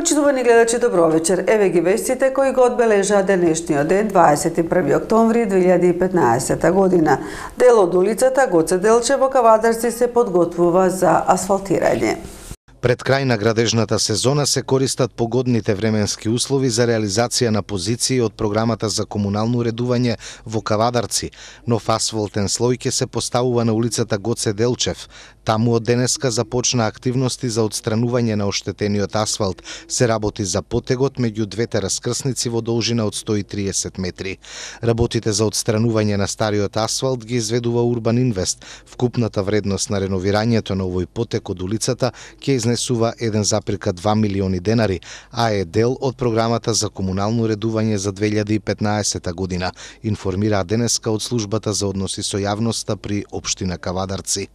Почитувани гледачи, добро вечер. Еве ги вестите кои го одбележаа денешниот ден, 21 октомври 2015 година. Дел од улицата Гоце Делчев во Кавадарци се подготвува за асфалтирање. Пред крај на градежната сезона се користат погодните временски услови за реализација на позиции од програмата за комунално уредување во Кавадарци. Нов асфалтен слој ќе се поставува на улицата Гоце Делчев. Таму од денеска започна активности за отстранување на оштетениот асфалт. Се работи за потегот меѓу двете раскрсници во должина од 130 метри. Работите за отстранување на стариот асфалт ги изведува Урбан Инвест. Вкупната вредност на реновирањето на овој потек од улицата ќе изнесува 1,2 милиони денари, а е дел од програмата за комунално уредување за 2015 година, информираа денеска од службата за односи со јавноста при општина Кавадарци.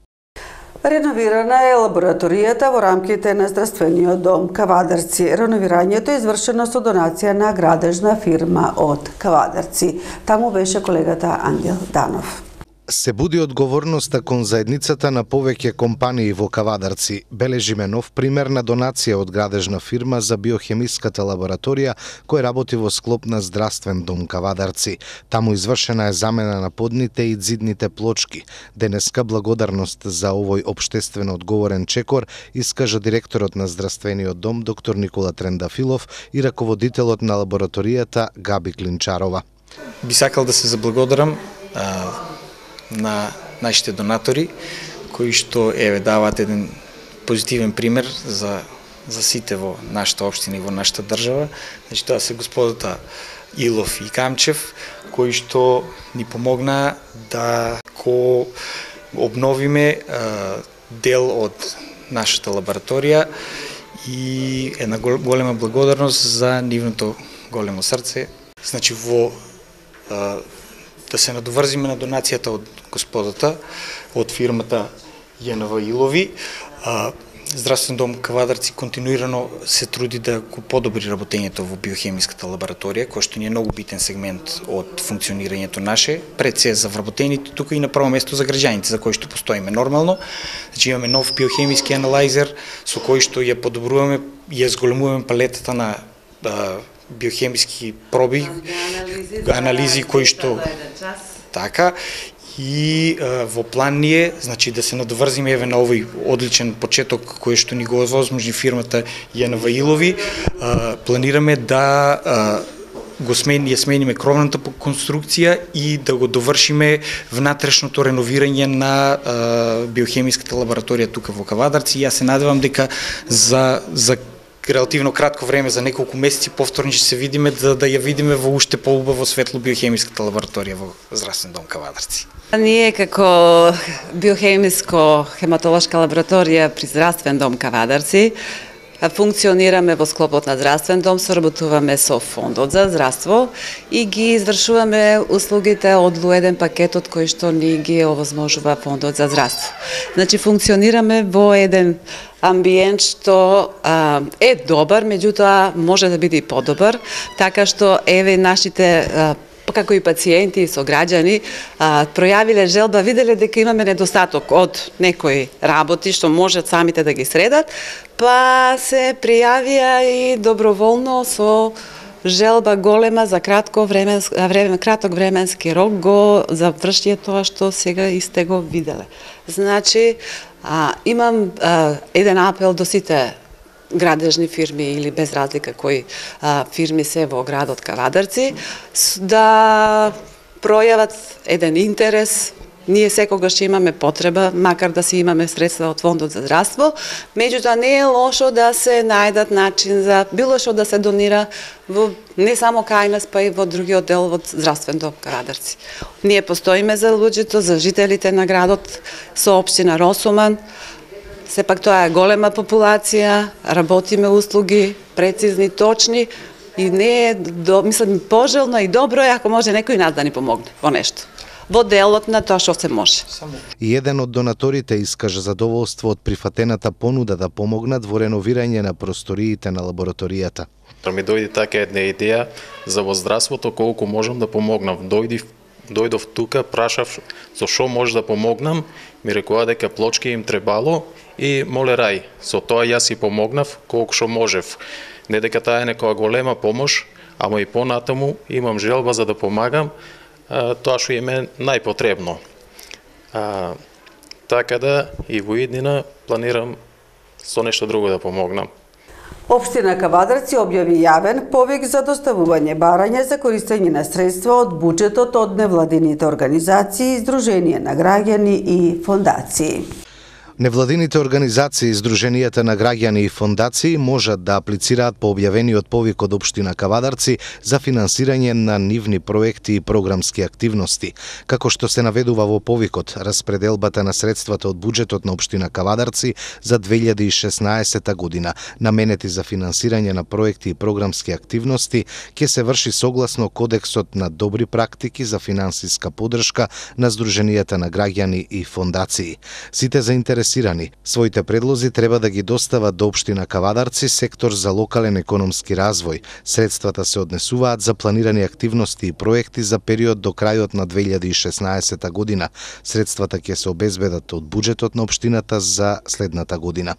Реновирана е лабораторијата во рамките на здравствениот дом Кавадарци. Реновирањето е извршено со донација на градежна фирма од Кавадарци. Таму беше колегата Ангел Данов. Се буди одговорноста кон заедницата на повеќе компании во Кавадарци. Бележиме нов пример на донација од градежна фирма за биохемиската лабораторија која работи во склоп на здравствен дом Кавадарци. Таму извршена е замена на подните и ѕидните плочки. Денеска благодарност за овој општествено одговорен чекор искажа директорот на здравствениот дом доктор Никола Трендафилов и раководителот на лабораторијата Габи Клинчарова. Би сакал да се заблагодарам на нашите донатори, кои што даваат еден позитивен пример за сите во нашата општина и во нашата држава. Значи, тоа се господата Илов и Камчев, кои што ни помогна да обновиме дел од нашата лабораторија и една голема благодарност за нивното големо срце. Значи, да се надоврзиме на донацијата од господата, од фирмата ЈНВ Илови. Здравствен дом Кавадарци континуирано се труди да го подобри работењето во биохемиската лабораторија, кој што ни е многу битен сегмент од функционирањето наше, пред се за вработените, тука и на прво место за граѓаните за кои што постоиме нормално. Значи, имаме нов биохемиски анализер со кој што ја подобруваме и ја зголемуваме палетата на биохемиски проби, анализи кои што така, и во план ни е, значи, да се надоврзиме на овој одличен почеток кој што ни го овозможни фирмата ЈНВ Илови. Планираме да ја смениме кровната конструкција и да го довршиме внатрешното реновирање на биохемиската лабораторија тука во Кавадарци. Јас се надевам дека за релативно кратко време, за неколку месеци повторно ќе се видиме, да ја видиме во уште поубаво светло биохемиската лабораторија во Здравствен дом Кавадарци. Ние како биохемиско-хематолошка лабораторија при Здравствен дом Кавадарци функционираме во склопот на Здравствен дом, соработуваме со Фондот за здравство и ги извршуваме услугите од еден пакетот кој што ни ги овозможува Фондот за здравство. Значи, функционираме во еден амбиент што е добар, меѓутоа може да биде и подобар, така што нашите како и пациенти и сограѓани пројавиле желба, виделе дека имаме недостаток од некои работи што можат самите да ги средат, па се пријавија и доброволно со желба голема за краток временски рок го завршија тоа што сега исте го виделе. Значи, имам еден апел до сите градежни фирми или без разлика кои фирми се во градот Кавадарци, да пројават еден интерес. Ние секогаш имаме потреба, макар да си имаме средства од Фондот за здравство, меѓутоа не е лошо да се најдат начин за било што да се донира во не само кај нас, па и во другиот дел од Здравствен дом Кавадарци. Ние постоиме за луѓето, за жителите на градот, со општина Росуман. Сепак тоа е голема популација, работиме услуги прецизни, точни и не е, мислам, пожелно и добро е ако може некој нас да ни помогне во нешто. Во делот на тоа што се може. И еден од донаторите искажа задоволство од прифатената понуда да помогнат во реновирање на просториите на лабораторијата. Ми дојде така една идеја за во здравството колку можам да помогнам. Дојдов тука, прашав со што може да помогнам, ми рекоа дека плочки им требало и моле рај. Со тоа јас и помогнав колку што можев. Не дека таа е некоја голема помош, ама и понатаму имам желба за да помагам тоа што им е најпотребно. Така да и во иднина планирам со нешто друго да помогнам. Општина Кавадарци објави јавен повик за доставување барања за користење на средства од буџетот од невладините организации, Сдружение на граѓани и фондации. Невладините организации, Сдруженијата на граѓани и фондации можат да аплицираат по објавениот повик од општина Кавадарци за финансирање на нивни проекти и програмски активности. Како што се наведува во повикот, распределбата на средствата од буџетот на општина Кавадарци за 2016 година, наменети за финансирање на проекти и програмски активности, ќе се врши согласно Кодексот на добри практики за финансиска поддршка на Сдруженијата на граѓани и фондации. Сите заинтересирани своите предлози треба да ги достават до општина Кавадарци, сектор за локален економски развој. Средствата се однесуваат за планирани активности и проекти за период до крајот на 2016 година. Средствата ќе се обезбедат од буџетот на општината за следната година.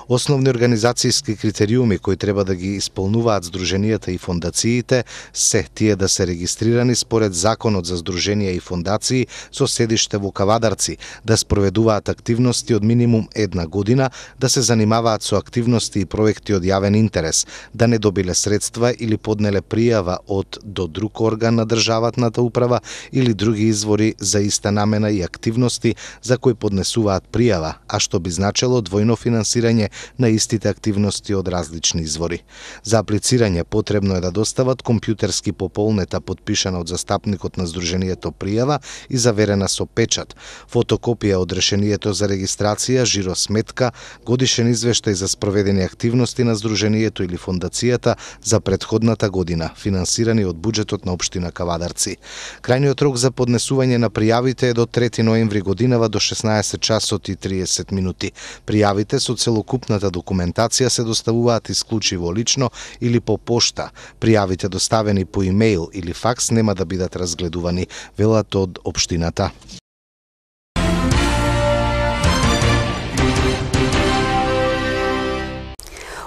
Основни организацијски критериуми кои треба да ги исполнуваат Сдруженијата и фондациите се тие да се регистрирани според Законот за Сдруженија и фондации со седиште во Кавадарци, да спроведуваат активности од минимум една година, да се занимаваат со активности и проекти од јавен интерес, да не добиле средства или поднеле пријава од до друг орган на државната управа или други извори за иста намена и активности за кои поднесуваат пријава, а што би значело двојно финансирање на истите активности од различни извори. За аплицирање потребно е да достават компјутерски пополнета подпишана од застапникот на Сдруженијето пријава и заверена со печат, фотокопија од решението за регистрација, жиро сметка, годишен извештај за спроведени активности на Сдруженијето или фондацијата за претходната година, финансирани од буџетот на општина Кавадарци. Крајниот рок за поднесување на пријавите е до 3 ноември годинава до 16 часот и 30 минути. Пријавите со целокупната документација се доставуваат исклучиво лично или по пошта. Пријавите доставени по имејл или факс нема да бидат разгледувани, велат од општината.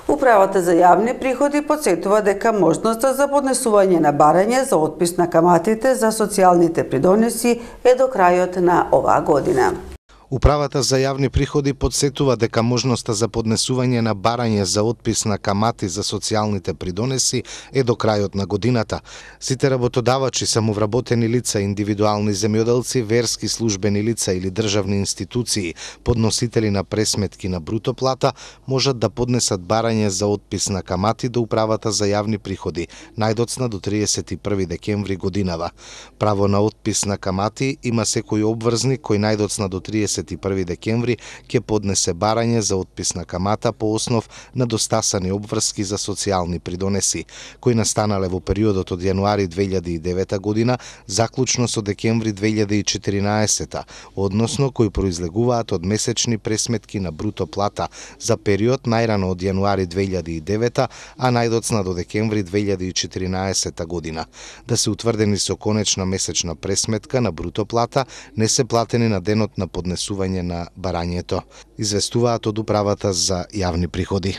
Управата за јавни приходи потсетува дека можноста за поднесување на барање за отпис на каматите за социјалните придонеси е до крајот на оваа година. Управата за јавни приходи потсетува дека можноста за поднесување на барање за отпис на камати за социјалните придонеси е до крајот на годината. Сите работодавачи, самовработени лица, индивидуални земјоделци, верски службени лица или државни институции, подносители на пресметки на бруто плата, можат да поднесат барање за отпис на камати до Управата за јавни приходи, најдоцна до 31 декември годинава. Право на отпис на камати има секој обврзник кој најдоцна до 31 декември ќе поднесе барање за отпис на камата по основ на достасани обврски за социјални придонеси, кои настанале во периодот од јануари 2009 година заклучно со декември 2014, односно кои произлегуваат од месечни пресметки на бруто плата за период најрано од јануари 2009, а најдоцна до декември 2014 година. Да се утврдени со конечна месечна пресметка на бруто плата, не се платени на денот на поднесување на барањето, известуваат од Управата за јавни приходи.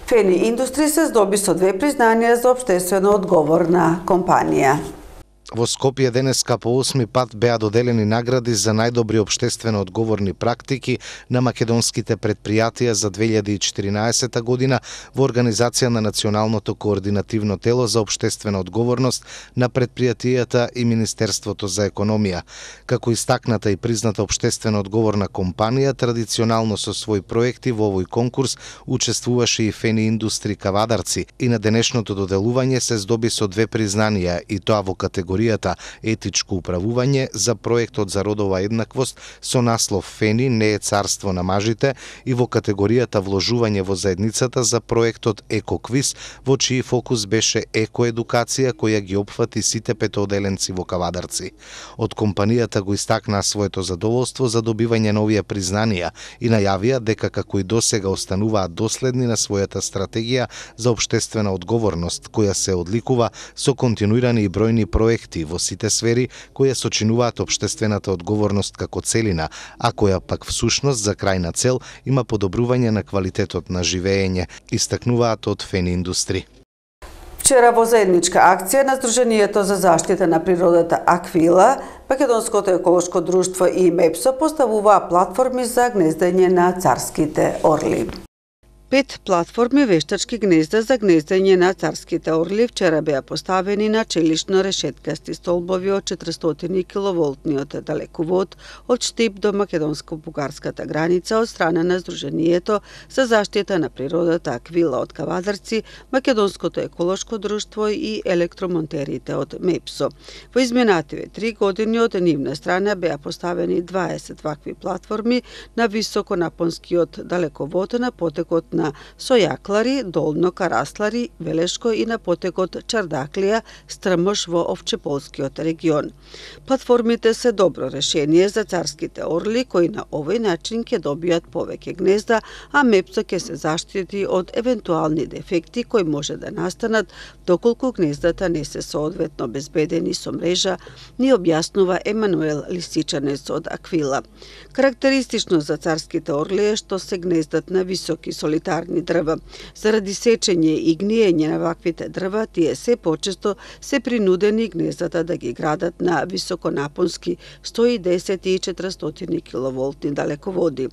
Фени Индустри се здоби со 2 признанија за општествено одговорна компанија. Во Скопје денеска по 8 пат беа доделени награди за најдобри општествено одговорни практики на македонските предпријатија за 2014 година во организација на Националното координативно тело за општествена одговорност на предпријатијата и Министерството за економија. Како истакната и призната општествено одговорна компанија, традиционално со своји проекти во овој конкурс учествуваше и Фени Индустри Кавадарци и на денешното доделување се здоби со 2 признанија, и тоа во категоријата етичко управување за проектот за родова еднаквост со наслов Фени не е царство на мажите и во категоријата вложување во заедницата за проектот Екоквиз, во чиј фокус беше екоедукација која ги опфати сите петооделенци во Кавадарци. Од компанијата го истакнаа своето задоволство за добивање на овие признанија и најавија дека како и досега остануваат доследни на својата стратегија за општествена одговорност, која се одликува со континуирани и бројни проекти проекти во сите сфери кои сочинуваат општествената одговорност како целина, а која пак всушност за крајна цел има подобрување на квалитетот на живење, истакнуваат од Фен Индустри. Вчера во заедничка акција на Сдруженијето за заштита на природата Аквила, Македонското еколошко друштво и МЕПСО поставуваа платформи за гнездење на царските орли. 5 платформи вештачки гнезда за гнездење на царските орли вчера беа поставени на челишно решеткасти столбови од 400 киловолтниот далековод од Штип до македонско-бугарската граница од страна на Сдруженијето за заштита на природата Аквила од Кавадарци, Македонското еколошко друштво и електромонтерите од МЕПСО. Во изминативе 3 години од нивна страна беа поставени 20 вакви платформи на високонапонскиот далековод на потекот на Сојаклари, Долно Караслари, Велешко и на потекот Чардаклија, Стрмош во Овчеполскиот регион. Платформите се добро решение за царските орли кои на овој начин ќе добијат повеќе гнезда, а МЕПСО ќе се заштити од евентуални дефекти кои може да настанат доколку гнездата не се соодветно безбедени со мрежа, ни објаснува Емануел Лисичанец од Аквила. Карактеристично за царските орли е што се гнездат на високи солитарни дрва. Заради сечење и гниење на ваквите дрва, тие се почесто се принудени гнездата да ги градат на високонапонски 110 и 400 киловолтни далеководи.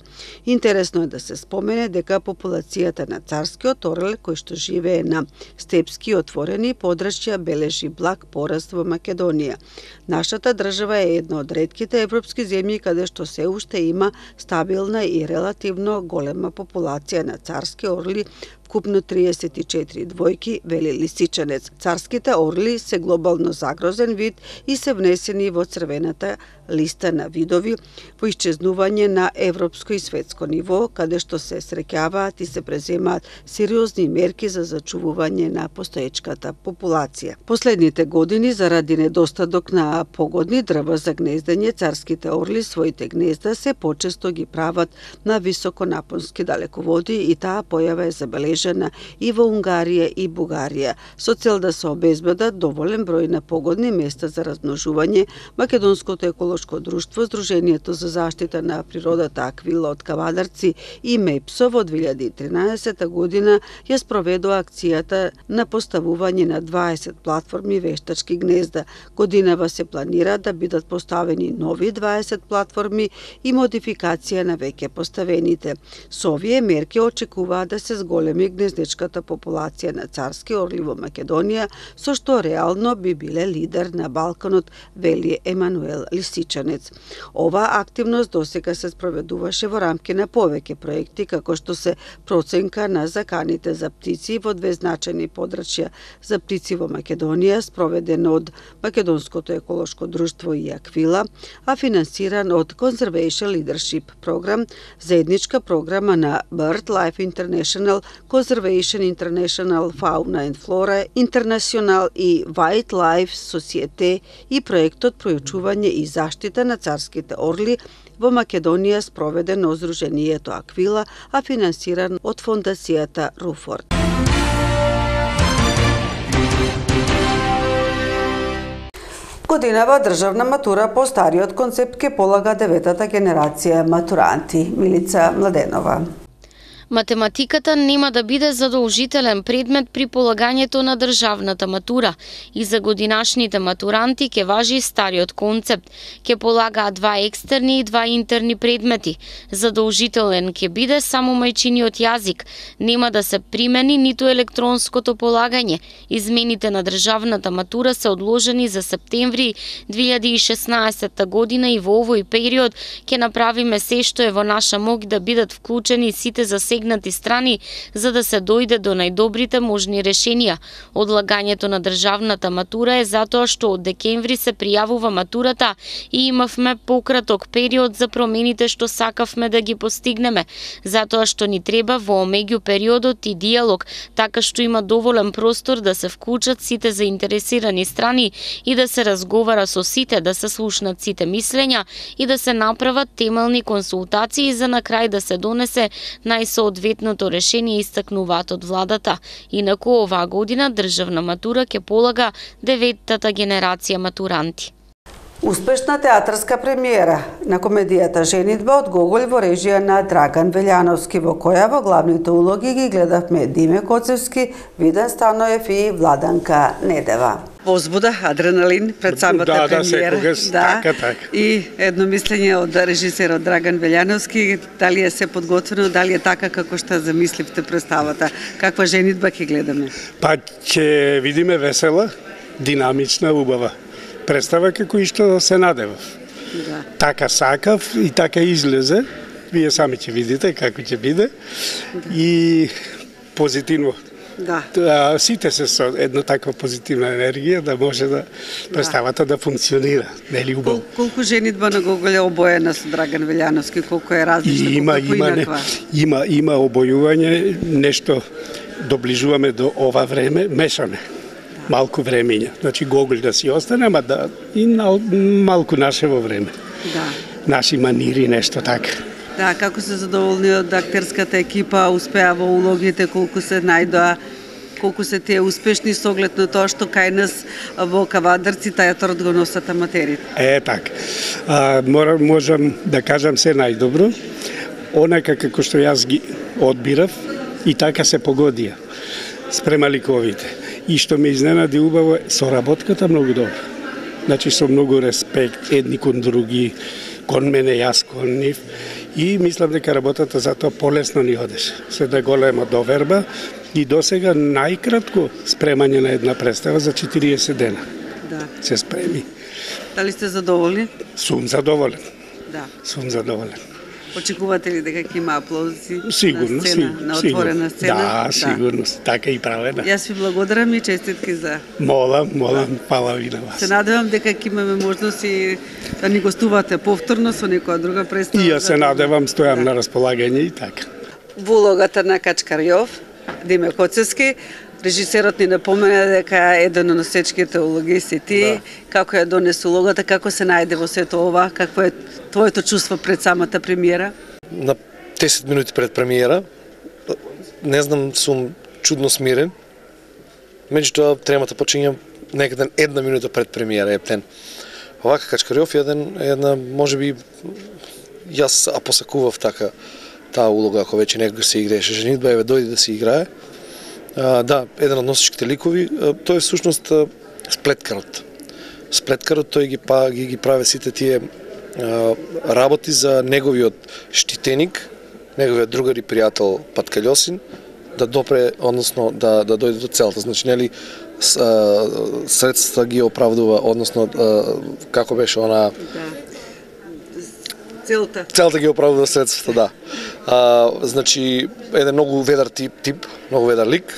Интересно е да се спомене дека популацијата на царскиот орел, кој што живее на степски отворени подрачја, бележи благ пораст во Македонија. Нашата држава е една од ретките европски земји каде што се уште има стабилна и релативно голема популација на царски орли, вкупно 34 двојки, вели Лисичанец. Царските орли се глобално загрозен вид и се внесени во црвената листа на видови во исчезнување на европско и светско ниво, каде што се среќаваат и се преземаат сериозни мерки за зачувување на постоечката популација. Последните години, заради недостаток на погодни дрва за гнездење, царските орли своите гнезда се почесто ги прават на високонапонски далеководи и таа појава е забележана и во Унгарија и Бугарија. Со цел да се обезбедат доволен број на погодни места за размножување, Македонското еколошко друштво, Сдруженијето за заштита на природата Аквила од Кавадарци и МЕПСО во 2013 година ја спроведува акцијата на поставување на 20 платформи вештачки гнезда. Годинава се планира да бидат поставени нови 20 платформи и модификација на веќе поставените. Со овие мерки очекуваат да се зголеми гнездечката популација на царски орли во Македонија, со што реално би биле лидер на Балканот, вели Емануел Лисичанец. Оваа активност досега се спроведуваше во рамки на повеќе проекти, како што се проценка на заканите за птици во две значајни подрачја за птици во Македонија, спроведен од Македонското еколошко друштво и Аквила, а финансиран од Conservation Leadership програм, заедничка програма на BirdLife International, Conservation International, Fauna and Flora International и Wildlife Societe и проектот пројучување и заштита на царските орли во Македонија, спроведен од Сдруженијето Аквила, а финансиран од фондацијата Руфорд. Годинава државна матура по стариот концепт ке полага 9-та генерација матуранти. Милица Младенова. Математиката нема да биде задолжителен предмет при полагањето на државната матура и за годинашните матуранти ќе важи стариот концепт. Ќе полагаат 2 екстерни и 2 интерни предмети. Задолжителен ќе биде само мајчиниот јазик. Нема да се примени ниту електронското полагање. Измените на државната матура се одложени за септември 2016 година и во овој период ќе направиме се што е во наша моќ да бидат вклучени сите засегнати страни за да се дојде до најдобрите можни решенија. Одлагањето на државната матура е затоа што од декември се пријавува матурата и имавме пократок период за промените што сакавме да ги постигнеме, затоа што ни треба во меѓу периодот и диалог, така што има доволен простор да се вклучат сите заинтересирани страни и да се разговара со сите, да се слушнат сите мислења и да се направат темелни консултации за на крај да се донесе најсоодветен одветното решение истакнуваат од владата. Инаку оваа година државна матура ќе полага 9-тата генерација матуранти. Успешна театарска премиера на комедијата Женидба од Гоголј во режија на Драган Велјановски, во која во главните улоги ги гледавме Диме Коцевски, Виден Станоев и Владанка Недева. Возбуда, адреналин пред самата премиера. Секогаш, така. И едно мислење од режисерот Драган Велјановски, дали е се подготвено, дали е така како што замисливте представата. Каква женитба ќе гледаме? Па ќе видиме весела, динамична, убава представа како и што се надевав. Да. Така сакав и така излезе. Вие сами ќе видите како ќе биде. Да. И позитивно. Да. Сите се со една таква позитивна енергија да може да представата да функционира, нели убаво. Колку женитба на Гоголј е обоена со Драган Велјановски, колку е различна, колку инаква? Има обојување, нешто доближуваме до ова време, мешаме. Малку времења. Значи Гоголј да си остане, ама да и малку нашево време. Да. Наши манири, нешто така. Да, како се задоволни од актерската екипа, успеа во улогите, колку се најдоа, колку се тие успешни со оглед на тоа што кај нас во Кавадарци театарот го носат аматерите. Така. Можам да кажам се најдобро. Онака како што јас ги одбирав и така се погодија спрема ликовите. И што ме изненади убаво е соработката многу добра. Значи со многу респект едни кон други, кон мене, јас кон нив. И мислам дека работата затоа полесно ни одеше. Се да голема доверба и досега најкратко спремање на една представа за 40 дена. Да. Се спреми. Дали сте задоволни? Сум задоволен. Да. Сум задоволен. Очекувате ли дека ќе има аплаузи Сигурно, на сцена, на отворена сцена? Да, сигурно, така и правена. Јас ви благодарам и честитки за... Молам, фала ви на вас. Се надевам дека ќе имаме можност и да ни гостувате повторно со некоја друга представа. И јас се надевам, стојам на располагање и така. Во улогата на Качкарјов, Диме Коцевски, режисерот ни напомена дека еден од носечките улоги си ти, да. Како ја донесе улогата, како се најде во сето ова, какво е твоето чувство пред самата премиера? На 10 минути пред премиера, не знам, сум чудно смирен. Меѓутоа, тремата почиња некаде една минута пред премиера, ептен. Овака Качкарјов една, можеби, јас посакував така таа улога, ако веќе некога се играеше женитба, еве дојде да се играе. Да, еден од носичките ликови, тој е всушност сплеткарот. Сплеткарот тој ги прави сите тие работи за неговиот штитеник, неговиот другар и пријател Патка Љосин, да допре, односно да дојде до целта. Значи, нели, средства ги оправдува, односно, како беше она... Целта ги оправдува средствата, да. Значи, еден многу ведар тип, многу ведар лик,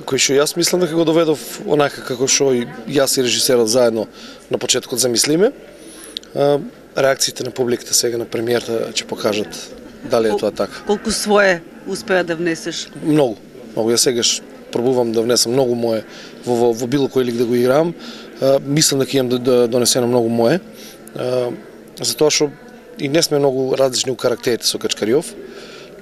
кој што јас мислам дека го доведов онака како што и јас и режисерот заедно на почетокот замислиме. Реакциите на публиката сега на премиерата ќе покажат дали е тоа така. Колку свое успеа да внесеш? Многу. Јас сегаш пробувам да внесам многу мое во било кој лик да го играм. Мислам дека имам да донесено многу мое. Затоа што и не сме многу различни у карактерите со Качкарјов,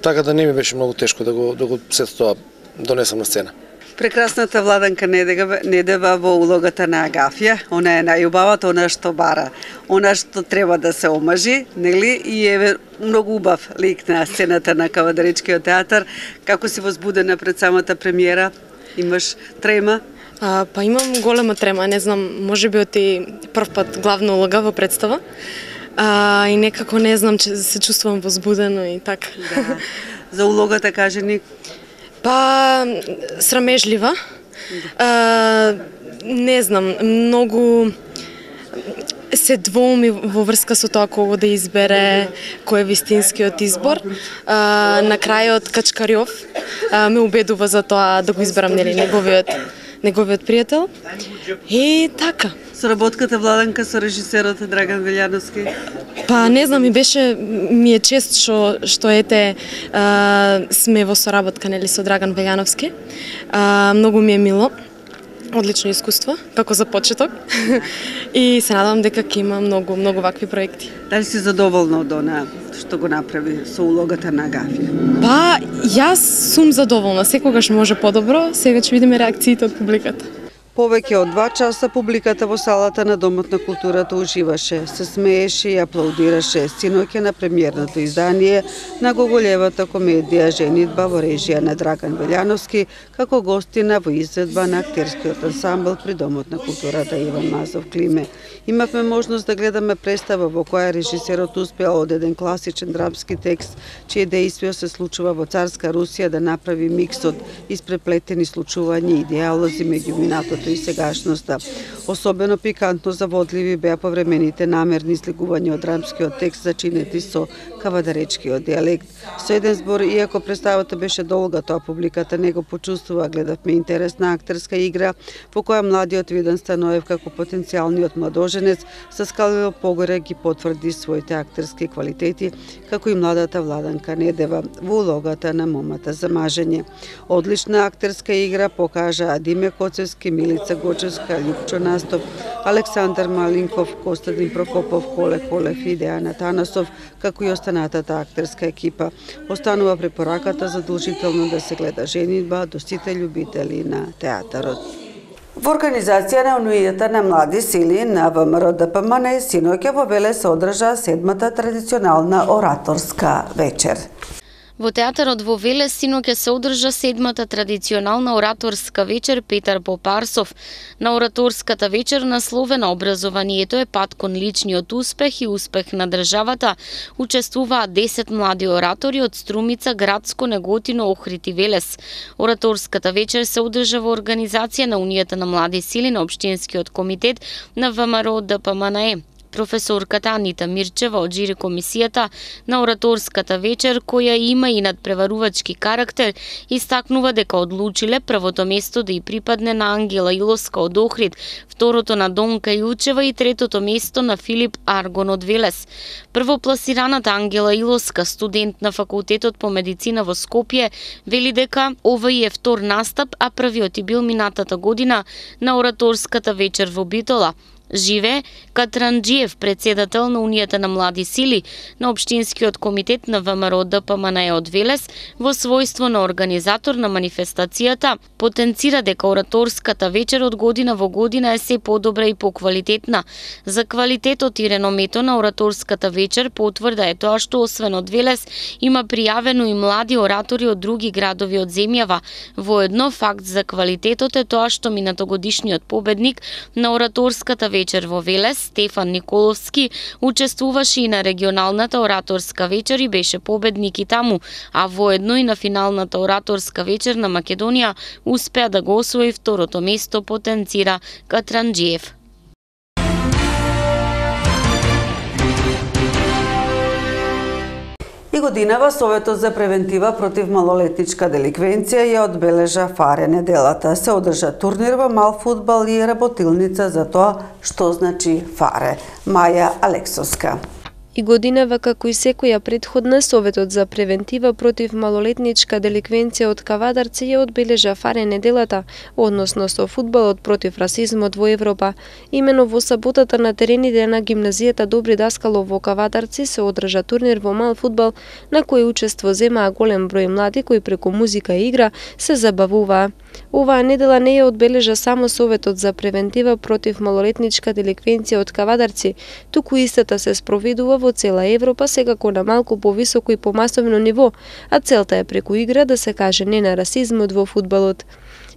така да не ми беше многу тешко да го сето тоа донесам на сцена. Прекрасната Владанка Недева во улогата на Агафија, она е најубавата, она што бара, она што треба да се омажи, нели? И е многу убав лик на сцената на Кавадаричкиот театар. Како си возбудена пред самата премиера? Имаш трема? Па имам голема трема, не знам, можеби од и прв пат главна улога во представа. И некако не знам, че се чувствувам возбудено и така. Да. За улогата кажи ни? Па срамежлива. Не знам, многу се двоуми во врска со тоа кого да избере, кој е вистинскиот избор. На крајот Качкарјов ме убедува за тоа да го изберам, нели, неговиот пријател. И така. Соработката Владанка со режисерот Драган Велјановски? Па не знам, ми е чест што ете сме во соработка, нели, со Драган Велјановски. Многу ми е мило. одлично искуство, како за почеток. И се надевам дека ќе има многу вакви проекти. Дали си задоволна од она што го направи со улогата на Агафија? Па, јас сум задоволна. Секогаш може подобро, сега ќе видиме реакциите од публиката. Повеќе од 2 часа публиката во салата на Домот на културата уживаше, се смееше и аплаудираше синоќа на премиерното издание на Гоголевата комедија Женитба во режија на Драган Белјановски, како гостина во изведба на актерскиот ансамбл при Домот на културата Иван Мазов Климе. Имавме можност да гледаме представа во која режисерот успеал од еден класичен драмски текст, чие дејство се случува во царска Русија, да направи микс од испреплетени случувања и диалози меѓу минатото и сегашноста. Особено пикантно заводливи беа повремените намерни слигувања од драмскиот текст зачинети со кавадаречкиот дијалект. Со еден збор, иако представата беше долга, тоа публиката не го почувствува. Гледавме интересна актерска игра во која младиот Видан Станоев како потенцијалниот младоженец со скалило погоре ги потврди своите актерски квалитети, како и младата Владанка Недева во улогата на момата за мажење. Одлична актерска игра покажаа Диме Коцевски, Милица Гочевска, Лјупчо Настов, Александар Малинков, Костадин Прокопов, Коле Колев и Дејана Танасов, како и останатата актерска екипа. Останува препораката задолжително да се гледа Женитба до сите љубители на театарот. Во организација на Унијата на млади сили на ВМРО ДПМН синоќа во Велес се одржа 7-та традиционална ораторска вечер. Во театарот во Велес синоќа се одржа 7-та традиционална ораторска вечер Петар Попарсов. На ораторската вечер, насловена Образованието е пат кон личниот успех и успех на државата, учествуваат 10 млади оратори од Струмица, Градско, Неготино, Охрид и Велес. Ораторската вечер се одржа во организација на Унијата на млади сили на Општинскиот комитет на ВМРО ДПМН. Професорката Анита Мирчева од жири комисијата на ораторската вечер, која има и надпреварувачки карактер, истакнува дека одлучиле првото место да и припадне на Ангела Илоска од Охрид, второто на Донка Јучева и третото место на Филип Аргон од Велес. Првопласираната Ангела Илоска, студент на факултетот по медицина во Скопје, вели дека овој е втор настап, а првиот и бил минатата година на ораторската вечер во Битола. Живе Катранџиев, председател на Унијата на млади сили на Општинскиот комитет на ВМРО ДПМН од Велес, во својство на организатор на манифестацијата, потенцира дека ораторската вечер од година во година е се подобра и поквалитетна. За квалитетот и реномето на ораторската вечер потврда е тоа што освен од Велес има пријавено и млади оратори од други градови од земјава. Воедно факт за квалитетот е тоа што минатогодишниот победник на ораторската вечер во Велес, Стефан Николовски, учествуваше и на регионалната ораторска вечер и беше победник и таму, а воедно и на финалната ораторска вечер на Македонија успеа да го освои второто место, потенцира Катранџиев. И годинава Советот за превентива против малолетничка деликвенција ја одбележа фаре неделата. Се одржа турнир во мал фудбал и работилница за тоа што значи фаре. Маја Алексовска. И годинава, како и секоја предходна, Советот за превентива против малолетничка деликвенција од Кавадарци ја одбележа фаре неделата, односно со фудбалот против расизмот во Европа. Имено во саботата на терените на гимназијата Добри Даскалов во Кавадарци се одржа турнир во мал фудбал, на кој учество земаа голем број млади кои преку музика и игра се забавуваа. Оваа недела не ја одбележа само Советот за превентива против малолетничка деликвенција од Кавадарци, туку истата се спроведува во цела Европа, секако на малку повисоко и помасовно ниво, а целта е преку игра да се каже не на расизмот во фудбалот.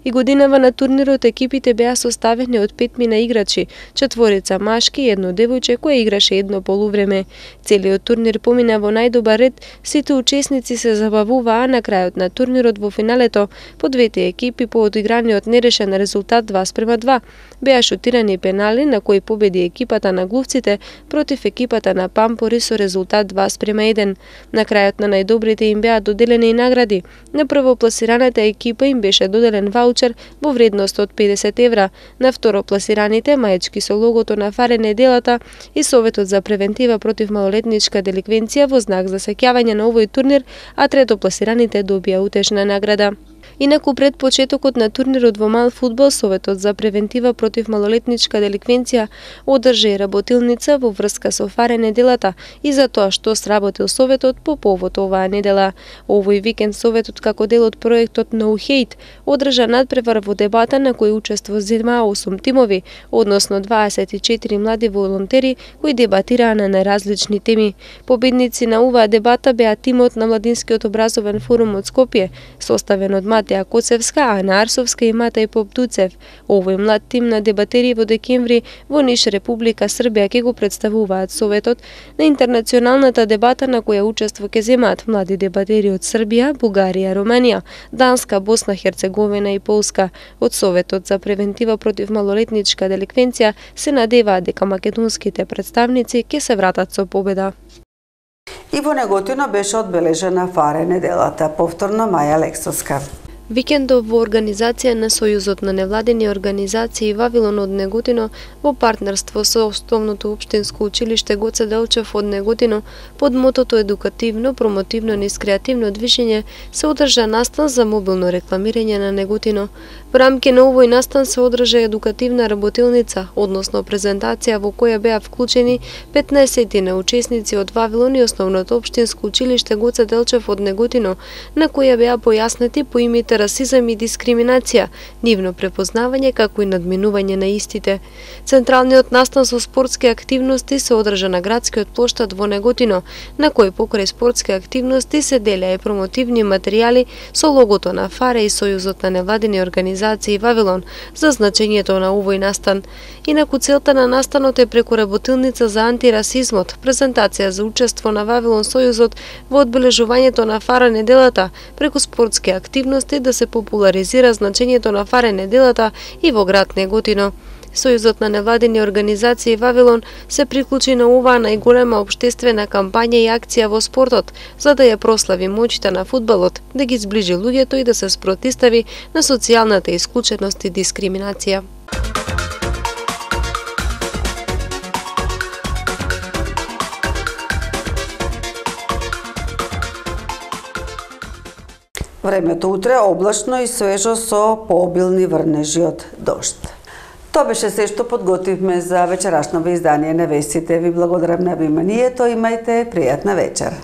И годинава на турнирот екипите беа составени од 5 играчи, 4 машки и 1 девојче кој играше едно полувреме. Целиот турнир помина во најдобар ред, сите учесници се забавуваа, на крајот на турнирот во финалето по двете екипи по одиграниот нерешен резултат 2:2 беа шутирани пенали на кои победи екипата на глувците против екипата на пампори со резултат 2:1. На крајот на најдобрите им беа доделени и награди. На првопласираната екипа им беше доделен ваучер во вредност од 50 евра, на второпласираните маечки со логото на фаре неделата и Советот за превентива против малолетничка деликвенција во знак за сеќавање на овој турнир, а третопласираните добија утешна награда. Инаку пред почетокот на турнирот во мал фудбал, Советот за превентива против малолетничка деликвенција одржа и работилница во врска со фаре неделата и за тоа што сработил Советот по повод оваа недела. Овој викенд Советот како дел од проектот No Hate одржа надпревар во дебата на кој учество зема 8 тимови, односно 24 млади волонтери кои дебатираа на најразлични теми. Победници на оваа дебата беа тимот на Младинскиот образовен форум од Скопје, составен од Матеја Коцевска, Ана Арсовска и Матај Попдуцев. Овој млад тим на дебатери во декември во Ниш, Република Србија ќе го представуваат Советот на интернационалната дебата на која учество ќе земаат млади дебатери од Србија, Бугарија, Романија, Данска, Босна, Херцеговина и Полска. Од Советот за превентива против малолетничка деликвенција се надеваат дека македонските представници ќе се вратат со победа. И во Неготино беше одбележена фаре неделата. Повторно Маја Лексовска. Викендов во организација на Сојузот на невладени организации Вавилон од Неготино во партнерство со Основното општинско училиште Гоце Делчев од Неготино под мотото едукативно, промотивно низ креативно движење се одржа настан за мобилно рекламирање на Неготино. Во рамки на овој настан се одржа едукативна работилница, односно презентација во која беа вклучени 15 учесници од Вавилон и Основното општинско училиште Гоце Делчев од Неготино, на која беа појаснети поимите расизам и дискриминација, нивно препознавање како и надминување на истите. Централниот настан со спортски активности се одржа на градскиот плоштад во Неготино, на кој покрај спортски активности се делеа и промотивни материјали со логото на фаре и Сојузот на невладени организации Вавилон за значењето на овој настан. Инаку целта на настанот е преку работилница за антирасизмот, презентација за учество на Вавилон Сојузот во одбележувањето на фара неделата, преку спортски активности да се популаризира значењето на фаре неделата и во град Неготино. Сојузот на невладени организации Вавилон се приклучи на оваа најголема општествена кампања и акција во спортот, за да ја прослави моќта на фудбалот, да ги зближи луѓето и да се спротистави на социјалната исклученост и дискриминација. Времето утре облачно и свежо со пообилни врнежи од дожд. Тоа беше се што подготвивме за вечерашното издание на вестите. Ви благодарам на вниманието, имајте пријатна вечер.